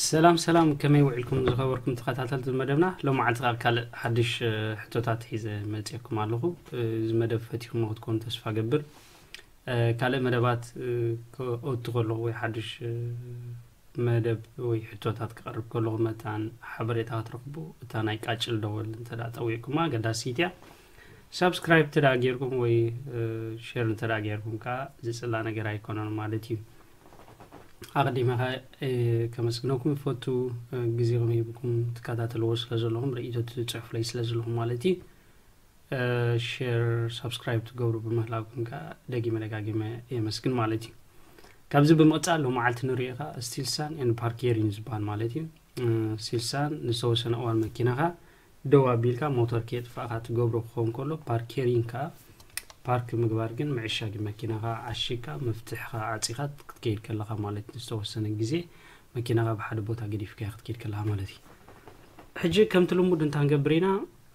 ሰላም ሰላም፣ ከመይ ውዒልኩም ዝኸበርኩም ተኸታተልቲ መደብና? ሎመዓልቲ ካብ ካልእ ሓድሽ ሕቶታት ሒዘ መፅየኩም ኣለኹ። እዚ መደብ ፈቲኹሞ ክትኮኑ ተስፋ ገብር። ካልእ መደባት ክኦቱ ከለኹ ወይ ሓድሽ መደብ ወይ ሕቶታት ክቐርብ ከለኹ መታን ሓበሬታ ክትረኽቡ እታ ናይ ቃጭል ደወል እንተ ጠዊቕኩማ ኣገዳሲት እያ። ሳብስክራይብ እንተ ጌርኩም ወይ ሸር እንተ ጌርኩም ከዓ ዝፅላ ነገር ኣይኮነን ማለት እዩ። ኣቐዲመ ከመስግነኩም ይፈቱ። ግዜኹም ሂብኩም ትከታተልዎ ስለ ዘለኹም፣ ርእይቶ ትፅሕፉለይ ስለ ዘለኹም ማለት እዩ። ሸር ሳብስክራይብ ትገብሩ ብምህላውኩም ከዓ ደጊመ ደጋጊመ የመስግን ማለት እዩ። ካብዚ ብምቕፃል ሎመዓልቲ ንሪኦ ከዓ ስቲልሳን ኤን ፓርኬሪን ዝበሃል ማለት እዩ። ስቲልሳን ንዝተወሰነ እዋን መኪናኻ ደው ኣቢልካ ሞተር ከየጥፋእካ ትገብሮ ክኸውን ከሎ፣ ፓርኬሪን ከዓ ፓርክ ምግባር ግን ምዕሻግ መኪናኻ ዓሺግካ መፍትሕኻ ዓፂኻ ክትከይድ ከለኻ ማለት እዩ። ዝተወሰነ ግዜ መኪናኻ ብሓደ ቦታ ገዲፍካ ክትከይድ ከለኻ ማለት እዩ። ሕጂ ከምቲ ልሙድ እንታይ ንገብር ኢና?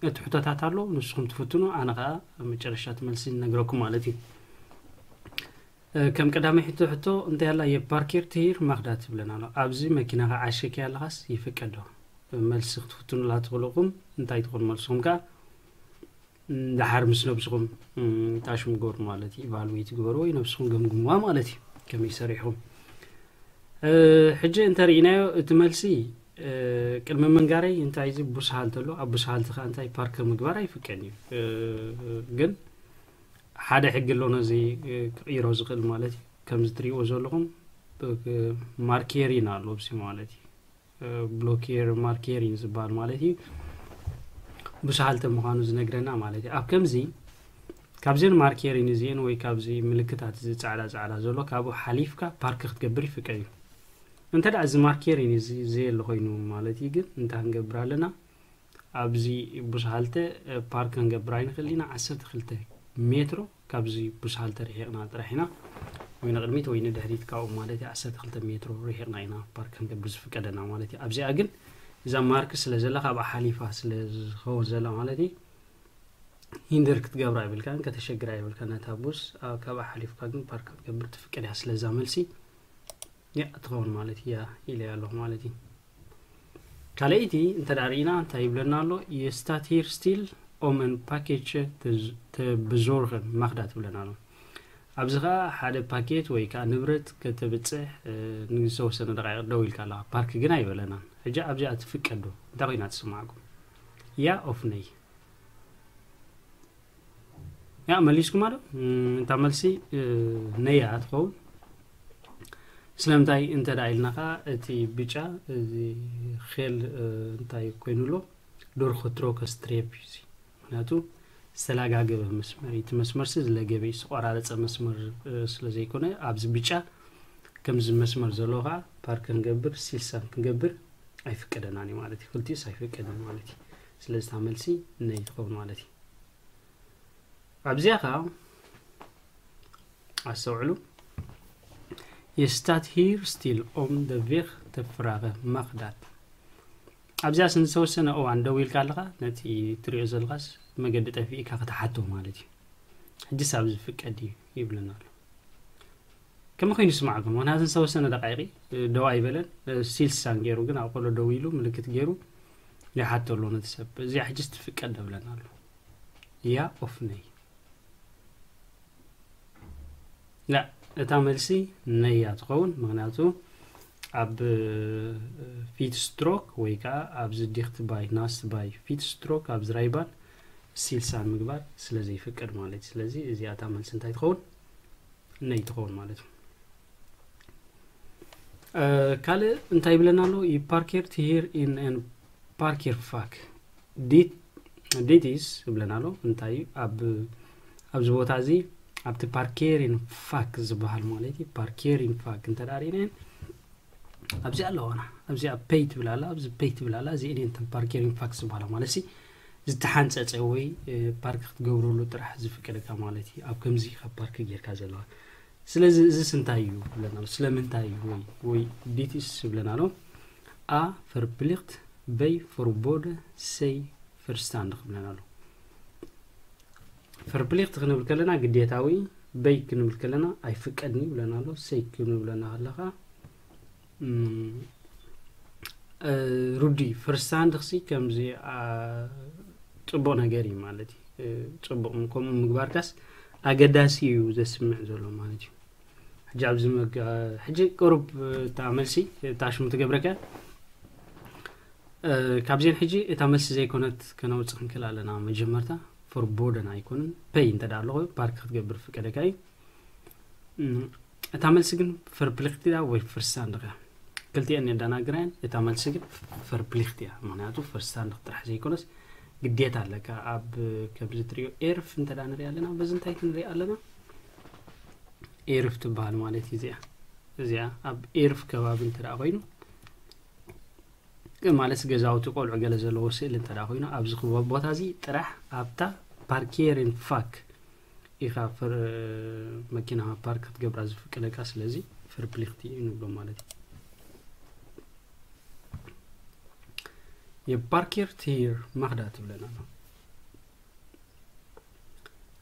እቲ ሕቶታት ኣሎ፣ ንስኹም ትፍትኑ፣ ኣነ ከዓ መጨረሻ እቲ መልሲ ንነግረኩም ማለት እዩ። ከም ቀዳማይ ሕቶ ሕቶ እንታይ ኣላ? የፓርኬር ትሂር ማኽዳ ትብለና ኣሎ። ኣብዚ መኪናኻ ዓሸኪ ኣለኻስ ይፍቀዶ? መልሲ ክትፍትኑላ ትኽእሉኹም እንታይ ትኾኑ መልስኹም ከዓ ደሓር ምስ ነብስኹም ታሽሙ ግበሩ ማለት እዩ። ኢቫሉዌት ግበሩ ወይ ነብስኹም ገምግምዋ ማለት እዩ። ከመይ ሰሪሕኹም ሕጂ እንተርኢናዮ እቲ መልሲ ቅድሚ ምንጋረይ እንታይ እዚ ቡስሃል ተሎ ኣብ ቡስሃል ትኻ እንታይ ፓርክ ምግባር ኣይፍቀን እዩ። ግን ሓደ ሕጊ ኣሎ ነዚ ክቕይሮ ዝኽእል ማለት እዩ። ከምዚ ትሪእዎ ዘለኹም ማርኬሪን ኣሎ ብሲ ማለት እዩ። ብሎኬር ማርኬሪን ዝበሃል ማለት እዩ። ብስሃልተ ምዃኑ ዝነግረና ማለት እዩ። ኣብ ከምዚ ካብዘን ማርኬሪን እዚአን ወይ ካብዚ ምልክታት እዚ ፃዕዳ ፃዕዳ ዘሎ ካብኡ ሓሊፍካ ፓርክ ክትገብር ይፍቀድ እዩ። እንተ ደኣ እዚ ማርኬሪን እዚ ዘየለ ኮይኑ ማለት እዩ ግን እንታይ ክንገብር ኣለና? ኣብዚ ብስሃልተ ፓርክ ክንገብር ኣይንኽእል ኢና። ዓሰርተ ክልተ ሜትሮ ካብዚ ብስሃልተ ርሒቕና ጥራሕ ኢና ወይ ንቕድሚት ወይ ንድሕሪት ካብኡ ማለት እዩ ዓሰርተ ክልተ ሜትሮ ርሒቕና ኢና ፓርክ ክንገብር ዝፍቀደና ማለት እዩ። ኣብዚኣ ግን እዛ ማርክ ስለ ዘላ ካብኣ ሓሊፋ ስለ ዝኸውን ዘላ ማለት እዩ ሂንደር ክትገብራ ይብልካን ከተሸግራ ይብልካ ነታ ቡስ ካብኣ ሓሊፍካ ግን ፓርክ ክትገብር ትፍቀድ እያ። ስለዛ መልሲ ያ ትኸውን ማለት እያ ኢለ ኣለኹ ማለት እዩ። ካልኣይቲ እንተ ደኣ ርኢና እንታይ ይብለና ኣሎ? የስታት ሂር ስቲል ኦም ን ፓኬጅ ተብዞርኸን ማኽዳ ትብለና ኣሎ። ኣብዚ ኸዓ ሓደ ፓኬት ወይ ከዓ ንብረት ከተብፅሕ ንዝተወሰነ ደቃይቕ ደው ኢልካ ኣለኻ። ፓርክ ግን ኣይበለናን። ሕጂ ኣብዚኣ ትፍቀድ ዶ? እንታይ ኮይና ትስማዕኩም? ያ ኦፍ ነይ? ያ መሊስኩማ ዶ? እታ መልሲ ነያ ትኸውን። ስለምንታይ እንተ ደኣ ኢልና ኸዓ እቲ ብጫ እዚ ኼል እንታይ ኮይኑ ኣሎ? ዶርኾ ትሮከ ስትሬፕ እዩ እዚ። ምክንያቱ ዝተላጋገበ መስመር እዩ። እቲ መስመርሲ ዝለገበ እዩ፣ ዝተቆራረፀ መስመር ስለ ዘይኮነ ኣብዚ ብጫ ከምዚ መስመር ዘለዎ ከዓ ፓርክ ክንገብር ሲልሳን ክንገብር ኣይፍቀደናን እዩ ማለት እዩ። ክልቲኡስ ኣይፍቀድን ማለት እዩ። ስለዚ እታ መልሲ ነይ ትኸውን ማለት እዩ። ኣብዚኣ ከዓ ኣስተውዕሉ። የስታት ሂር ስቲል ኦም ደ ቬግ ተ ፍራገ ማኽዳት። ኣብዚኣ ዝተወሰነ እዋን ደው ኢልካ ኣለኻ፣ ነቲ ትሪኦ ዘለኻስ መገዲ ጠፊእካ ክትሓቶ ማለት እዩ። ሕጂስ ኣብዚ ፍቀድ እዩ ይብለና ኣሎ። ከመይ ኮይኑ ይስማዕኩም? ምክንያቱ ዝተወሰነ ደቃይቂ ደው ኣይበለን። ሲልሳን ገይሩ ግን ኣብ ቆሎ ደው ኢሉ ምልክት ገይሩ ይሓቶ ኣሎ ነቲ ሰብ። እዚኣ ሕጂስ ትፍቀድ ደብለና ኣሎ። ያ ኦፍ ነይ? ላ፣ እታ መልሲ ነያ ትኸውን። ምክንያቱ ኣብ ፊት ስትሮክ ወይ ከዓ ኣብዚ ዲክት ባይ ናስት ባይ ፊት ስትሮክ ኣብዚ ራይባን ሲልሳን ምግባር ስለ ዘይፍቀድ ማለት እዩ። ስለዚ እዚኣ እታ መልሲ እንታይ ትኸውን? ነይ ትኸውን ማለት እዩ። ካልእ እንታይ ይብለና ኣሎ? ዩ ፓርኬር ቲሂር ኢን ን ፓርኬር ፋክ ዲቲስ ይብለና ኣሎ። እንታይ እዩ? ኣብ ኣብዚ ቦታ እዚ ኣብቲ ፓርኬሪን ፋክ ዝበሃል ማለት እዩ። ፓርኬሪን ፋክ እንተ ደኣ ርኢናየን ኣብዚ ኣለዋና፣ ኣብዚኣ ፔይ ትብል ኣላ፣ ኣብዚ ፔይ ትብል ኣላ። እዚአን እየን እተን ፓርኬሪን ፋክ ዝበሃላ ማለት ሲ ዝተሓንፀፀ ወይ ፓርክ ክትገብረሉ ጥራሕ ዝፍቀደካ ማለት እዩ። ኣብ ከምዚ ካብ ፓርክ ጌርካ ዘለዋ ስለዚ እዚስ እንታይ እዩ ብለና ኣሎ? ስለምንታይ እዩ ወይ ወይ ዲቲስ ይብለና ኣሎ? A verplicht bij verboden C verstandig ይብለና ኣሎ። ቨርፕሊክት ክንብል ከለና ግዴታዊ፣ በይ ክንብል ከለና ኣይፍቀድን እዩ ይብለና ኣሎ። ሰይ ክንብለና ከለኻ ሩዲ ፈርስት ሃንድ ክሲ ከምዚ ጽቡቕ ነገር እዩ ማለት እዩ። ጽቡቕ ከምኡ ምግባርካስ ኣገዳሲ እዩ ዘስምዕ ዘሎ ማለት እዩ። ሕጂ ኣብዚ ሕጂ ቅሩብ እታ መልሲ እታ ሽሙ ትገብረካ። ካብዚን ሕጂ እታ መልሲ ዘይኮነት ከነውፅእ ክንክእል ኣለና። መጀመርታ ፈርቦደን ኣይኮንን ፐይ እንተ ኣለኹ ፓርክ ክትገብር ፍቀደካ እዩ። እታ መልሲ ግን ፈርፕሊክቲያ ወይ ፍርሳን ድኻ ክልቲአን የዳናግራያን። እታ መልሲ ግን ፈርፕሊክቲያ፣ ምክንያቱ ፍርሳን ድኽ ጥራሕ ዘይኮነስ ግዴታ ኣለካ። ኣብ ከምዚ ትሪኦ ኤርፍ እንተ ንሪኢ ኣለና፣ በዚ እንታይ ክንሪኢ ኣለና? ኤርፍ ትበሃል ማለት እዩ። እዚኣ እዚኣ ኣብ ኤርፍ ከባቢ እንተ ኮይኑ ማለት ገዛውቲ ቆልዑ ገለ ዘለዎ ስእሊ እንተ ኮይኑ ኣብዚ ክቦ ቦታ እዚ ጥራሕ ኣብታ ፓርኬርን ፋክ ኢኻ መኪና ፓርክ ክትገብራ ዝፍቅደካ። ስለዚ ፈርፕሊክቲ እዩ ንብሎ ማለት እዩ። የፓርኬርት ሂር ማኽዳ ትብለና ኣሎ።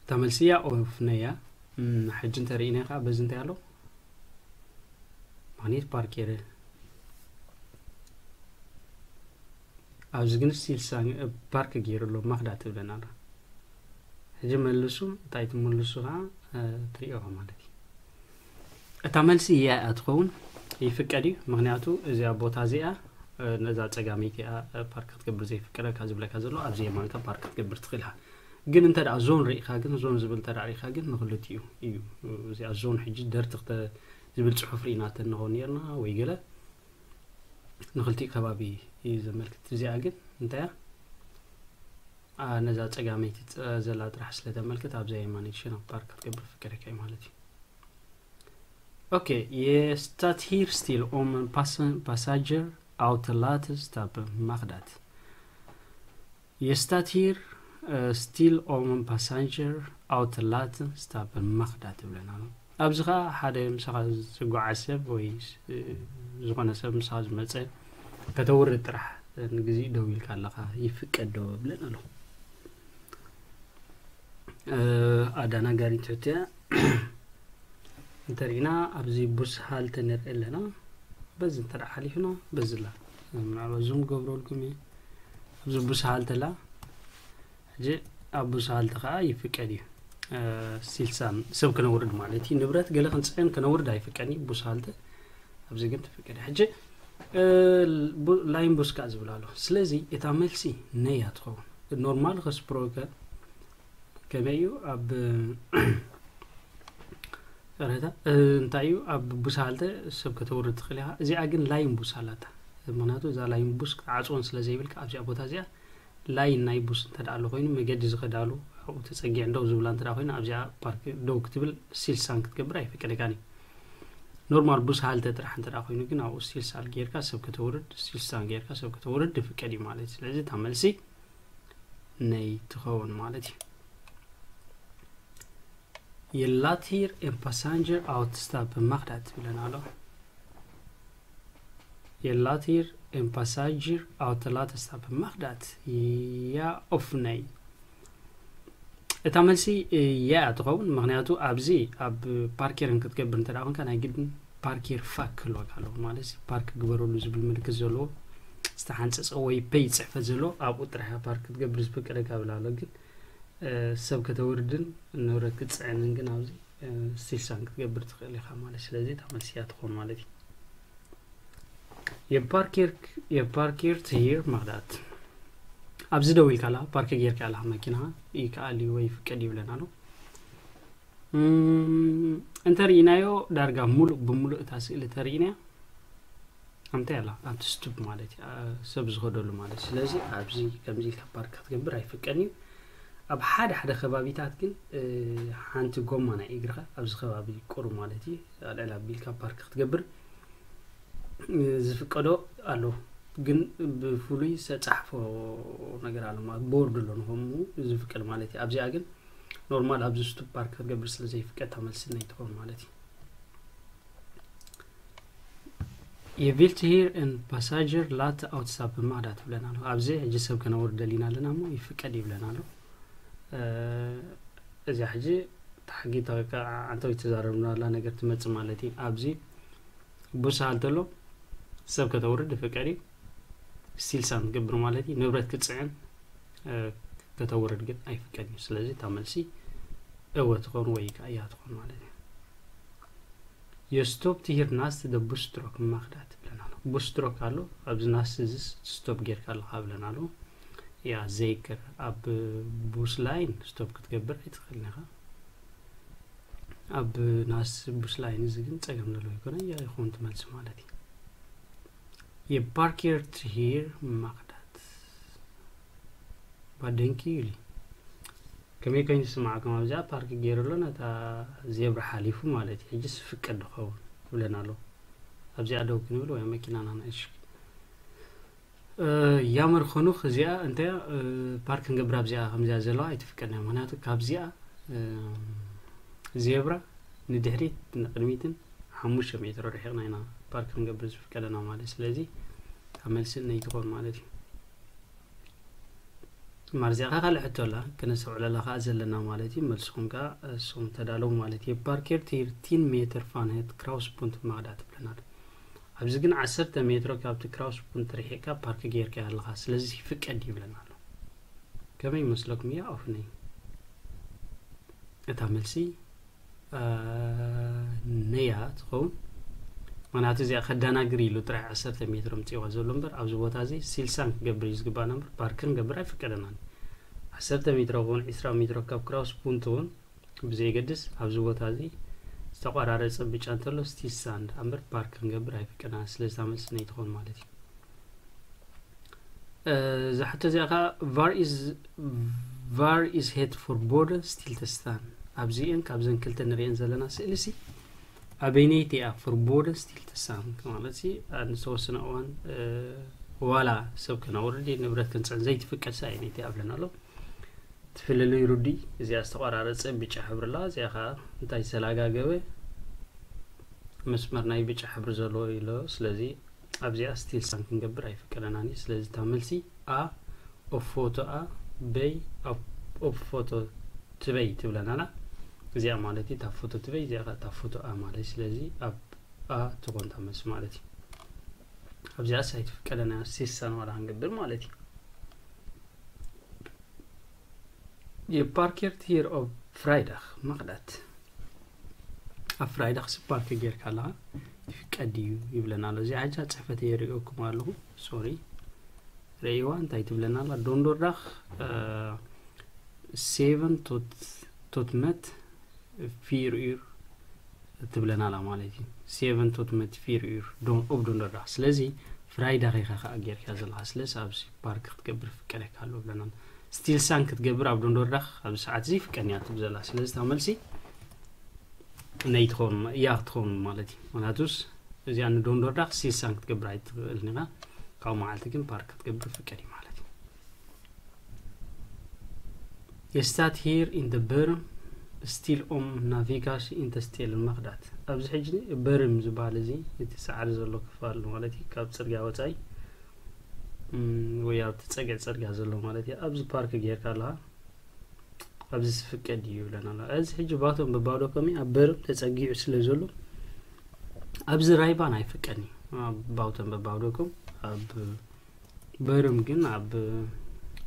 እታ መልሲ እያ ኦፍነያ። ሕጂ እንተርኢና ከዓ በዚ እንታይ ኣሎ? ማግኔት ፓርክ የረ ኣብዚ ግን ስቲል ፓርክ ገይሩ ኣሎ። ማኽዳ ትብለና ኣላ። ሕጂ መልሱ እንታይ ትመልሱ ከዓ ትሪኦ ማለት እዩ። እታ መልሲ እያ እያ ትኸውን ይፍቀድ እዩ። ምክንያቱ እዚኣ ቦታ እዚኣ ነዛ ፀጋመይቲ እያ ፓርክ ክትገብር ዘይፍቀደካ ዝብለካ ዘሎ። ኣብዚ የማንካ ፓርክ ክትገብር ትኽእል ኢኻ። ግን እንተ ደኣ ዞን ርኢኻ ግን ዞን ዝብል እንተ ደኣ ርኢኻ ግን ንክልቲኡ እዩ። እዚኣ ዞን ሕጂ ደርቲ ዝብል ፅሑፍ ርኢናተን ንኸውን ነርና ወይ ገለ ንክልቲኡ ከባቢ እዩ ዘመልክት። እዚኣ ግን እንታይ እያ? ነዛ ፀጋመይቲ ዘላ ጥራሕ ስለተመልክት ኣብዛ የማነይቲ ሸነኽ ፓርክ ክትገብር ፍቀደካ እዩ ማለት እዩ። ኦኬ፣ የስታት ሂር ስቲል ኦም ፓሳጀር ኣውተላት ስታፕ ማኽዳት። የስታት ሂር ስቲል ኦም ፓሳጀር ኣውተላት ስታፕ ማኽዳት ትብለና ኣሎ። ኣብዚ ኸዓ ሓደ ምሳኻ ዝጓዓዝ ሰብ ወይ ዝኾነ ሰብ ምሳኻ ዝመፀ ከተውርድ ጥራሕ ንግዜ ደው ኢልካ ኣለኻ ይፍቀድ ዶ ብለን ኣሎ። ኣዳናጋሪ ትሕትያ እንተሪእና ኣብዚ ቡስ ሃልተ ንርኢ ኣለና። በዚ እንተ ሓሊፍና በዚ ላ ምናልባት ዙም ገብረልኩም እየ። ኣብዚ ቡስ ሃልተ ላ ሕጂ ኣብ ቡስ ሃልተ ከዓ ይፍቀድ እዩ። ሲልሳን ሰብ ክነውርድ ማለት እዩ። ንብረት ገለ ክንፅዕን ክነውርድ ኣይፍቀድን እዩ ቡስ ሃልተ። ኣብዚ ግን ትፍቀድ። ሕጂ ላይን ቡስ ከዓ ዝብል ኣሎ። ስለዚ እታ መልሲ ነያ ትኸውን። ኖርማል ከስፕሮከ ከመይ እዩ ኣብ ረታ እንታይ እዩ ኣብ ቡሳልተ ሰብ ከተውርድ ትኽእል ኢኻ። እዚኣ ግን ላይን ቡሳላታ ምክንያቱ እዛ ላይን ቡስ ክትዓፅወን ስለ ዘይብልካ ኣብዚኣ ቦታ እዚኣ ላይን ናይ ቡስ እንተ ደኣ ኣሎ ኮይኑ መገዲ ዝኸዳሉ ኣብኡ ተፀጊዐን ደው ዝብላ እንተ ደኣ ኮይኑ ኣብዚኣ ፓርክ ደው ክትብል ሲልሳን ክትገብር ኣይፍቀደካን እዩ። ኖርማል ቡስ ሃልተ ጥራሕ እንተ ደኣ ኮይኑ ግን ኣብኡ ሲልሳን ጌርካ ሰብ ከተውርድ ሲልሳን ጌርካ ሰብ ከተውርድ ይፍቀድ እዩ ማለት እዩ። ስለዚ እታ መልሲ ነይ ትኸውን ማለት እዩ። የላቲር ኤን ፓሳንጀር ኣውትስታፕ ማኽዳት ይብለን ኣሎ። የላቲር ኤን ፓሳንጀር ኣውተላተስታፕ ማኽዳት ያ ኦፍነይ። እታ መልሲ ያ ትኸውን ምክንያቱ ኣብዚ ኣብ ፓርኬርን ክትገብር እንተ ደኣ ኮንካ ናይ ግድን ፓርኬር ፋክ ክህልወካ ኣለዎ ማለት ፓርክ ግበረሉ ዝብል ምልክት ዘለዎ ዝተሓንፀፀ ወይ ፔይ ፅሕፈት ዘለዎ ኣብኡ ጥራሕ ፓርክ ክትገብር ዝፍቀደካ ብል ኣሎ። ግን ሰብ ከተውርድን ንብረት ክትፅዕንን ግን ኣብዚ ሲልሳን ክትገብር ትኽእል ኢኻ ማለት ስለዚ እታ መልሲ እያ ትኾን ማለት እዩ። የፓርኬር ትሂር ማኽዳት ኣብዚ ደው ኢልካ ኣላ ፓርክ ጌርካ ኣላ መኪና ይከኣል እዩ ወይ ፍቀድ ይብለና ኣሎ። እንተርኢናዮ ዳርጋ ሙሉእ ብሙሉእ እታ ስእሊ ተርኢናያ ኣምታይ ኣላ ኣብቲ ስቱፕ ማለት እዩ ሰብ ዝኸደሉ ማለት ስለዚ ኣብዚ ከምዚ ኢልካ ፓርክ ክትገብር ኣይፍቀን እዩ። ኣብ ሓደ ሓደ ከባቢታት ግን ሓንቲ ጎማ ናይ እግርኻ ኣብዚ ከባቢ ቁሩ ማለት እዩ ኣልዕል ኣቢልካ ፓርክ ክትገብር ዝፍቀዶ ኣሎ። ግን ብፍሉይ ዝተፃሕፎ ነገር ኣሎ ማለት ቦርድ ኣሎ ንኸምኡ ዝፍቀድ ማለት እዩ። ኣብዚኣ ግን ኖርማል ኣብዚ ስቱፕ ፓርክ ክትገብር ስለ ዘይፍቀድ እታ መልሲ ናይ ትኸውን ማለት እዩ። የቪልት ሂር ን ፓሳጀር ላት ኣውትስታፕ ማዳ ትብለና ኣሎ። ኣብዚ ሕጂ ሰብ ከነውርድ ደሊና ኣለና እሞ ይፍቀድ ይብለና ኣሎ። እዚኣ ሕጂ ታሕጊ ዓንተው ይተዛረብና ኣላ ነገር ትመፅእ ማለት እዩ። ኣብዚ ቡስ ሃልተ ኣሎ ሰብ ከተውርድ ይፍቀድ እዩ። ስቲል ሳን ትገብር ማለት እዩ። ንብረት ክትፅዕን ከተውርድ ግን ኣይፍቀድን እዩ። ስለዚ እታ መልሲ እወ ትኾን ወይ ከዓ እያ ትኾን ማለት እዩ። የስቶፕ ትሂር ናስት ደ ቡስትሮክ ማክዳ ትብለና ኣሎ። ቡስትሮክ ኣሎ ኣብዚ ናስት እዚ ስቶፕ ጌርካ ኣለካ ብለና ኣሎ። ያ ዘይክር ኣብ ቡስ ላይን ስቶፕ ክትገብር ኣይትኽእልን ኢኻ። ኣብ ናስ ቡስ ላይን እዚ ግን ጸገም ዘለዎ ይኮነ እያ ይኾን ትመልስ ማለት እዩ። የፓርኬር ትሂር ማክዳት ባደንኪ ይሊ ከመይ ኮይኑ ዝስማዕኩም ኣብዚኣ ፓርክ ገይሩ ኣሎ ነታ ዜብራ ሓሊፉ ማለት እዩ። ሕጂ ስፍቀድ ድኸውን ይብለና ኣሎ። ኣብዚኣ ደው ክንብል ወይ መኪናና ንእሽ ያመር ኾኑኽ እዚኣ እንተ ፓርክ ክንገብር ኣብዚኣ ከምዚኣ ዘለዋ ኣይትፍቀድና። ምክንያቱ ካብዚኣ ዜብራ ንድሕሪት ንቅድሚትን ሓሙሽተ ሜትሮ ርሒቕና ኢና ፓርክ ክንገብር ዝፍቀደና ማለት። ስለዚ ኣብ መልሲ ነይ ትኾን ማለት እዩ። ማርዚያ ካ ካልእ ሕቶ ኣላ ክነስተውዕለላ ከዓ ዘለና ማለት እዩ። መልስኹም ከዓ እሱም ተዳለዉ ማለት እዩ። ፓርኬር ቲርቲን ሜትር ፋንሄት ክራውስ ፑንት ማዳ ትብለና ኣሎ። ኣብዚ ግን ዓሰርተ ሜትሮ ካብቲ ክራውስ ፑንት ርሒቕካ ፓርክ ጌርካ ኣለኻ፣ ስለዚ ፍቀድ ይብለና ኣሎ። ከመይ ይመስለኩም? ያ ኦፍ ነይ እታ መልሲ ነያ ትኸውን። ምክንያቱ እዚኣ ከዳናግር ኢሉ ጥራይ ዓሰርተ ሜትሮ ምፅዋ ዘሎ እምበር ኣብዚ ቦታ እዚ ሲልሳን ክገብር እዩ ዝግባና እምበር ፓርክን ገብር ኣይፍቀደናን። ዓሰርተ ሜትሮ እውን ዒስራ ሜትሮ ካብ ክራውስ ፑንት እውን ብዘይገድስ ኣብዚ ቦታ እዚ ዝተቋራረፀ ብጫ እንተሎ ስቲል ሳንድ እምበር ፓርክ ክንገብር ኣይፍቀደና። ስለዚ እታ መልሲ ነይ ትኸውን ማለት እዩ። እዛ ሕቶ እዚኣ ከዓ ቫር ኢዝ ቫር ኢዝ ሄት ፎር ቦርደር ስቲል ተስታን ኣብዚአን ካብዘን ክልተ ንሪአን ዘለና ስእሊ ሲ ኣበይነይቲ እያ ፎር ቦርደር ስቲል ተስታን ማለት ሲ ንዝተወሰነ እዋን ዋላ ሰብ ከነውርድ ንብረት ክንፅዕን ዘይትፍቀድ ሲ ኣይነይቲ ኣብለና ኣሎ። ትፍልልይ ሩዲ እዚኣ ዝተቆራረፀ ብጫ ሕብሪ ኣላ። እዚኣ ከዓ እንታይ ዝተላጋገበ መስመር ናይ ብጫ ሕብሪ ዘለዎ ኢሎ። ስለዚ ኣብዚኣ ስቲል ሳን ክንገብር ኣይፍቀደናን እዩ። ስለዚ እታ መልሲ ኣ ኦፍ ፎቶ ኣ በይ ኦፍ ፎቶ ትበይ ትብለናላ። እዚኣ ማለት እዩ እታ ፎቶ ትበይ፣ እዚኣ እታ ፎቶ ኣ ማለት እዩ። ስለዚ ኣብ ኣ ትኾን እታ መልሲ ማለት እዩ። ኣብዚኣ ሳይት ፍቀደና ሲሳን ዋላ ክንገብር ማለት እዩ። የፓርኬርት ሂር ኦፍ ፍራይዳኽ መኽዳት ኣብ ፍራይዳኽ ስፓርክ ጌርካ ኣለኻ ይፍቀድ እዩ ይብለና ኣሎ። እዚ ሓጃ ጽሕፈት የርእየኩም ኣለኹ። ሶሪ ርእይዋ እንታይ ትብለና ኣላ? ዶንዶርዳኽ ሴቨን ቶትመት ፊር ዩር ትብለና ኣላ ማለት እዩ። ሴቨን ቶትመት ፊር ዩር ኦብ ዶንዶርዳኽ። ስለዚ ፍራይዳኽ ኢኻ ከዓ ጌርካ ዘለኻ። ስለዚ ኣብዚ ፓርክ ክትገብር ፍቀደካ ኣሎ ብለና። ስቲል ሳን ክትገብር ኣብ ዶንዶርዳኽ ኣብዚ ሰዓት እዚ ፍቀድንያ ትብል ዘላ። ስለዚ እታ መልሲ ነይ ትኸውን እያ ክትኸውን ማለት እዩ። ምክንያቱስ እዚኣ ንዶንዶርዳኽ ስቲል ሳን ክትገብር ኣይትኽእልን ኢኻ። ካብኡ መዓልቲ ግን ፓርክ ክትገብር ፍቀድ እዩ ማለት እዩ። የስታት ሂር ኢን ደ በርም ስቲል ኦም ናቪጋሽ ኢን ደ ስቴል መኽዳት። ኣብዚ ሕጂ በርም ዝበሃል እዚ እቲ ሳዕሪ ዘሎ ክፋል ማለት እዩ። ካብ ፅርግያ ወፃኢ ወይ ኣብቲ ፀግዒ ፅርግያ ዘሎ ማለት እዩ። ኣብዚ ፓርክ ጌርካ ኣለኻ ኣብዚ ዝፍቀድ እዩ ይብለና ኣሎ። እዚ ሕጂ ባቶም በባዶ ከሚ ኣብ በርም ተፀጊዑ ስለ ዘሎ ኣብዚ ራይባን ኣይፍቀድን እዩ። ባውተን በባዶ ከም ኣብ በርም ግን ኣብ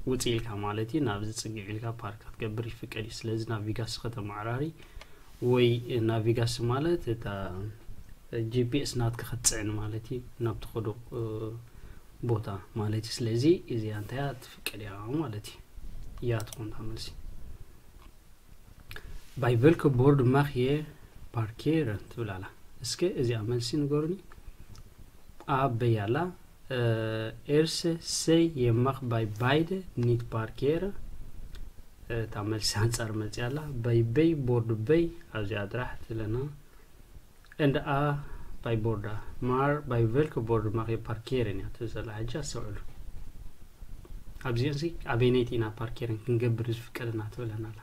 ውፅ ኢልካ ማለት እዩ ናብዚ ፅግዕ ኢልካ ፓርክ ክትገብር ይፍቀድ እዩ። ስለዚ ናቪጋስ ከተመዓራሪ ወይ ናቪጋስ ማለት እታ ጂፒኤስ ናትካ ክትፅዕን ማለት እዩ ናብ ትኸዶ ቦታ ማለት እዩ። ስለዚ እዚኣ እንታይ እያ ትፍቀድ እያ ማለት እዩ። እያ ትኾን እታ መልሲ። ባይ ቨልከ ቦርድ ማኽ የ ፓርኬረን ትብል ኣላ። እስከ እዚኣ መልሲ ንገሩኒ። ኣብ በይ ኣላ ኤርሰ ሰይ የማኽ ባይ ባይደ ኒት ፓርኬረ እታ መልሲ ኣንጻር መጽያ ኣላ። ባይ በይ ቦርድ በይ ኣብዚኣ ጥራሕ ትለና። እንደ ኣ ባይ ቦርዳ ማር ባይ ቨልከ ቦርድ ማኽ የ ፓርኬረን እያ ትብል ዘላ። ሕጂ ኣስተውዕሉ። ኣብዚአን ሲ ኣበይነይቲ ኢና ፓርኬረን ክንገብር ዝፍቀደና ትብለና ኣላ።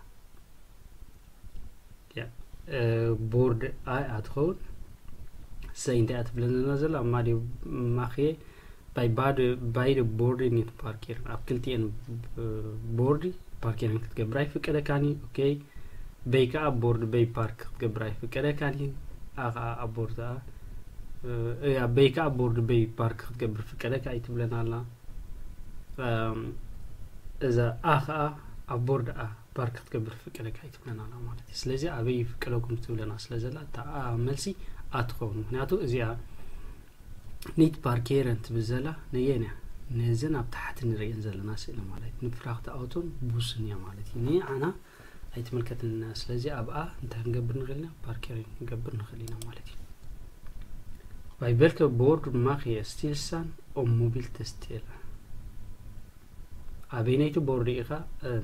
ቦርድ ኣይ ኣትኸውን ሰይ እንታይ ኣትብለና ዘላ ማዲ ማኽየ ባይ ባድ ባይደ ቦርድ ኒት ፓርኬር ኣብ ክልቲኤን ቦርድ ፓርኬርን ክትገብር ኣይፍቀደካን እዩ። ኦኬ በይ ከዓ ቦርድ በይ ፓርክ ክትገብር ኣይፍቀደካን እዩ። ኣ ከዓ ኣብ ቦርድ ኣ እያ በይ ከዓ ቦርድ በይ ፓርክ ክትገብር ፍቀደካ እዩ ትብለና ኣላ። እዛ ኣ ከዓ ኣብ ቦርድ ኣ ፓርክ ክትገብር ፍቀደካ ኣይትብለና ኣላ ማለት እዩ። ስለዚ ኣበይ ይፍቀደኩም ትብለና ስለ ዘላ እታ ኣ መልሲ ኣ ትኸውን። ምክንያቱ እዚኣ ኒት ፓርኬረን ትብል ዘላ ነየን እያ? ነዘን ኣብ ታሕቲ ንርእየን ዘለና ስእሊ ማለት እዩ። ንፍራክቲ ኣውቶን ቡስን እያ ማለት እዩ። ንዓና ኣይትምልከትንና። ስለዚ ኣብኣ እንታይ ክንገብር ንኽእል ኢና? ፓርኬር ክንገብር ንኽእል ኢና ማለት እዩ። Bij welke bord mag je stilstaan om mobiel te stelen? ኣበይነይቲ ቦርድ ኢኻ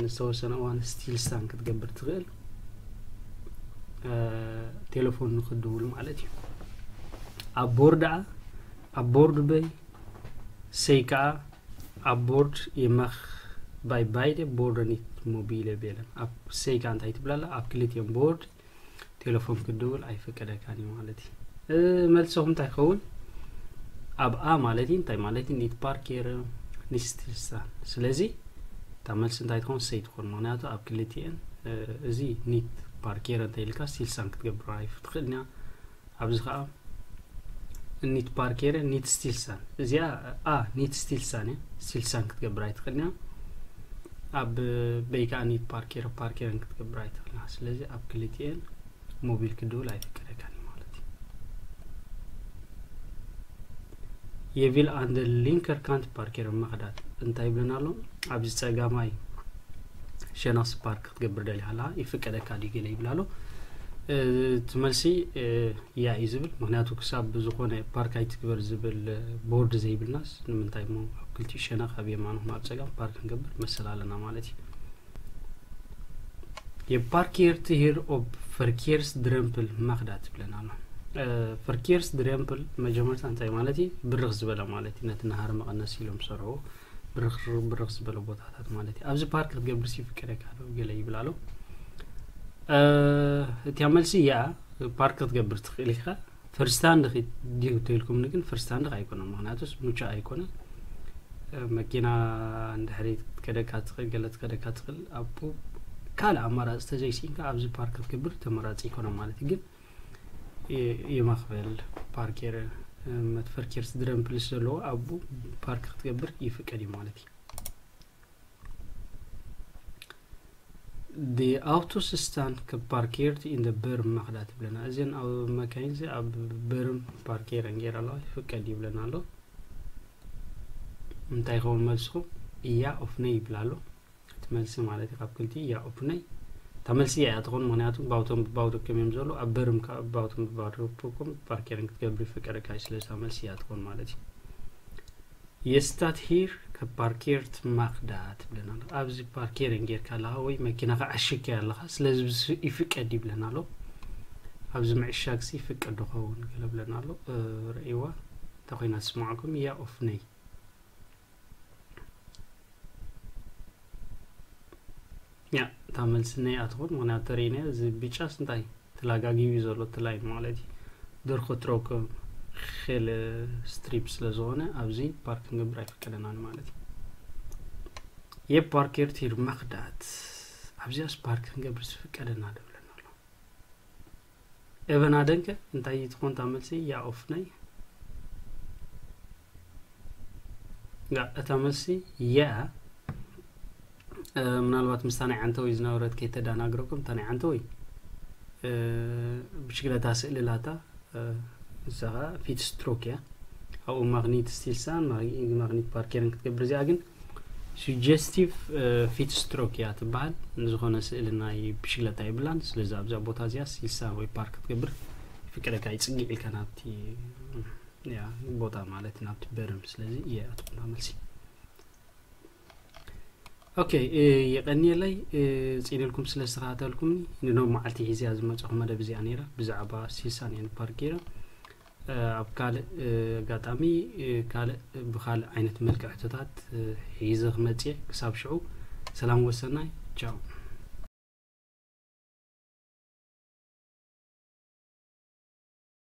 ንዝተወሰነ እዋን ስቲልስታን ክትገብር ትኽእል? ቴሌፎን ንክድውል ማለት እዩ። ኣብ ቦርድ ኣ ኣብ ቦርድ በይ ሰይ ከዓ ኣብ ቦርድ የማኽ ባይ ባይደ ቦርድ ኒት ሞቢለ ቤለን ኣብ ሰይ ከዓ እንታይ ትብላላ ኣብ ክልቲኦም ቦርድ ቴሌፎን ክድውል ኣይፈቀደካን እዩ ማለት እዩ። መልሰኹም እንታይ ይኸውን? ኣብ ኣ ማለት እዩ እንታይ ማለት እዩ? ኒት ፓርኬር ኒት ስቲልስታን። ስለዚ እታ መልሲ እንታይ ትኸውን? ሰይ ትኾን። ምክንያቱ ኣብ ክልቲኤን እዚ ኒት ፓርኬር እንተ ኢልካ ስቲልስታን ክትገብር ኣይትኽእልን እያ። ኣብዚ ከዓ ኒት ፓርኬር ኒት ስቲልስታን። እዚኣ ኣ ኒት ስቲልስታን እያ። ስቲልስታን ክትገብር ኣይትኽእልን እያ። ኣብ በይ ከዓ ኒት ፓርኬር ፓርኬርን ክትገብር ኣይትኽእልን እያ። ስለዚ ኣብ ክልቲኤን ሞቢል ክድውል ኣይፍቀደካን እዩ ማለት እዩ። የቪል ኣንደ ሊንከር ካንት ፓርኬር መኽዳት እንታይ ይብለና ኣሎ? ኣብዚ ፀጋማይ ሸነኽሲ ፓርክ ክትገብር ደሊኻ ኣለኻ ይፍቀደካ ድዩ ገለ ይብል ኣሎ። እቲ መልሲ ያ እዩ ዝብል። ምክንያቱ ክሳብ ዝኾነ ፓርክ ኣይትግበር ዝብል ቦርድ ዘይብልናስ ንምንታይ እሞ ኣብ ክልቲኡ ሸነኽ ኣብ የማንኹም ኣብ ፀጋም ፓርክ ክንገብር መሰል ኣለና ማለት እዩ። የፓርኬርት ሂር ኦብ ፈርኬርስ ድረምፕል ማክዳ ትብለና ኣሎ። ፈርኬርስ ድረምፕል መጀመርታ እንታይ ማለት እዩ? ብርኽ ዝበለ ማለት እዩ። ነቲ ናሃር መቐነስ ኢሎም ዝሰርሕዎ ብርኽ ብርኽ ዝበለ ቦታታት ማለት እዩ። ኣብዚ ፓርክ ክትገብር ይፍቀደካ ዶ ገለ ይብል ኣሎ። እቲያ መልሲ እያ። ፓርክ ክትገብር ትኽእል ኢኻ። ፈርስታንድ ድዩ ተልኩም ግን ፈርስታንድ ኣይኮነ። ምክንያቱስ ሙቻ ኣይኮነ። መኪና እንድሕሪ ከደካ ትኽእል ገለ ትከደካ ትኽእል ኣብ ካልእ ኣማራፂ ተዘይሲኢንካ ኣብዚ ፓርክ ክትገብር ተመራፂ ይኮነ ማለት እዩ። ግን የማክበል ፓርኬር መትፈርኬር ስድረን ፕልስ ዘለዎ ኣቡ ፓርክ ክትገብር ይፍቀድ እዩ ማለት እዩ። ዲ ኣውቶስ ስታን ከ ፓርኬርት ኢን ደ በርም ማክዳ ትብለና። እዘን ኣብ መካይን ዚ ኣብ በርም ፓርኬረን ገይራ ኣለዋ ይፍቀድ ይብለና ኣሎ። እንታይ ይኸውን መልስኹም? እያ ኦፍ ነይ ይብል ኣሎ። እቲ መልሲ ማለት እዩ ካብ ክልቲ እያ ኦፍ ነይ። እታ መልሲ እያ ትኾን፣ ምክንያቱ ባውቶም ብባውዶ ከም እዮም ዘሎ ኣብ በርም ባውቶም ብባውዶ ፓርኬርን ክትገብር ይፍቀደካ እዩ። ስለዚ እታ መልሲ እያ ትኾን ማለት እዩ። የስታት ሂር ከፓርኬርት ማክዳ ትብለና ኣሎ። ኣብዚ ፓርኬርን ጌርካ ኣለኻ ወይ መኪናኻ ዓሽግካያ ኣለኻ፣ ስለዚ ይፍቀድ ይብለና ኣሎ። ኣብዚ ምዕሻግሲ ይፍቀድ ዶ ኸውን ገለ ብለና ኣሎ። ረእይዋ እንተ ኮይና ትስምዓኩም እያ ኦፍ ነይ። ያ እታ መልሲ ነይ ኣትኹን፣ ምክንያቱ ተርእይናዮ እዚ ብጫስ እንታይ ተላጋጊቡ ዘሎ እቲ ላይን ማለት እዩ። ደርኮ ትረውከ ኸለ ስትሪፕ ስለ ዝኾነ ኣብዚ ፓርክ ክንገብር ኣይፍቀደናን ማለት እዩ። የፓርኬርት ሂር ማክዳት ኣብዚኣስ ፓርክ ክንገብር ዝፍቀደና ደብለና ኣሎ። ኤቨን ኣደንከ እንታይ ትኾን እታ መልሲ? ያ ኦፍ ናይ ያ እታ መልሲ ያ ምናልባት ምስታ ናይ ዓንተወይ ዝነበረት ከይተዳናግረኩም እታ ናይ ዓንተወይ ብሽግለታ ስእልላታ ንሳ ከዓ ፊት ስትሮክ እያ። ኣብኡ ማግኒት ስቲልሳን ማግኒት ፓርኬርን ክትገብር እዚኣ ግን ሱጀስቲቭ ፊት ስትሮክ እያ ትበሃል። ንዝኾነ ስእሊ ናይ ብሽግለታ የብላን። ስለዚ ኣብዛ ቦታ እዚኣ ስቲልሳን ወይ ፓርክ ክትገብር ይፍቀደካ እዩ። ፅግዕ ኢልካ ናብቲ ያ ቦታ ማለት ናብቲ በርም። ስለዚ እየ ኣትኩና መልሲ። ኦኬ፣ የቐንየለይ ጽኢነልኩም ስለ ዝተኸታተልኩምኒ። ንኖብ መዓልቲ ሒዝያ ዝመጻኹ መደብ እዚኣ ነይራ፣ ብዛዕባ ሲሳን ኤን ፓርክ ገይረ። ኣብ ካልእ ኣጋጣሚ ካልእ ብኻልእ ዓይነት መልክዕ ሕቶታት ሒዘ ክመጽእ። ክሳብ ሽዑ ሰላም ወሰናይ፣ ቻው።